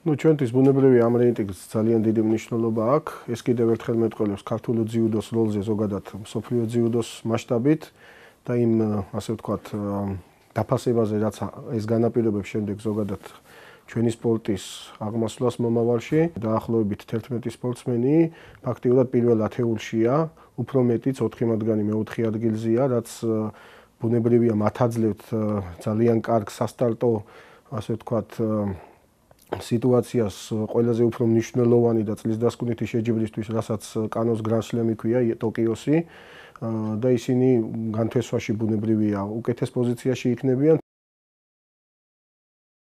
Ну, ჩვენთვის ბუნებრივი ამ რეიტინგს ძალიან დიდი მნიშვნელობა აქვს. ეს კიდევ ერთხელ მეტყველებს ქართული ძიუდოს როლზე ზოგადად მსოფლიო ძიუდოს მასშტაბით და იმ ასე ვთქვათ დაფასებაზე, რაც ეს განაპირობებს შემდეგ ზოგადად ჩვენი სპორტის აღმასვლას მომავალში. დაახლოებით 11 სპორტსმენი ფაქტიურად პირველ ათეულშია, უფრო მეტიც 4 მათგანი მეოთხე ადგილზეა, რაც ბუნებრივია მათ აძლევთ ძალიან კარგ სასტარტო, ასე ვთქვათ, სიტუაციას ყველაზე უფრო მნიშვნელოვანი და წლისდასკვნითი შეჯიბრისთვის, რასაც კანოს გრან-სლემი ქვია, ტოკიოსი და ისინი განთესვაში ბუნებრივია უკეთეს პოზიციაში იქნებიან,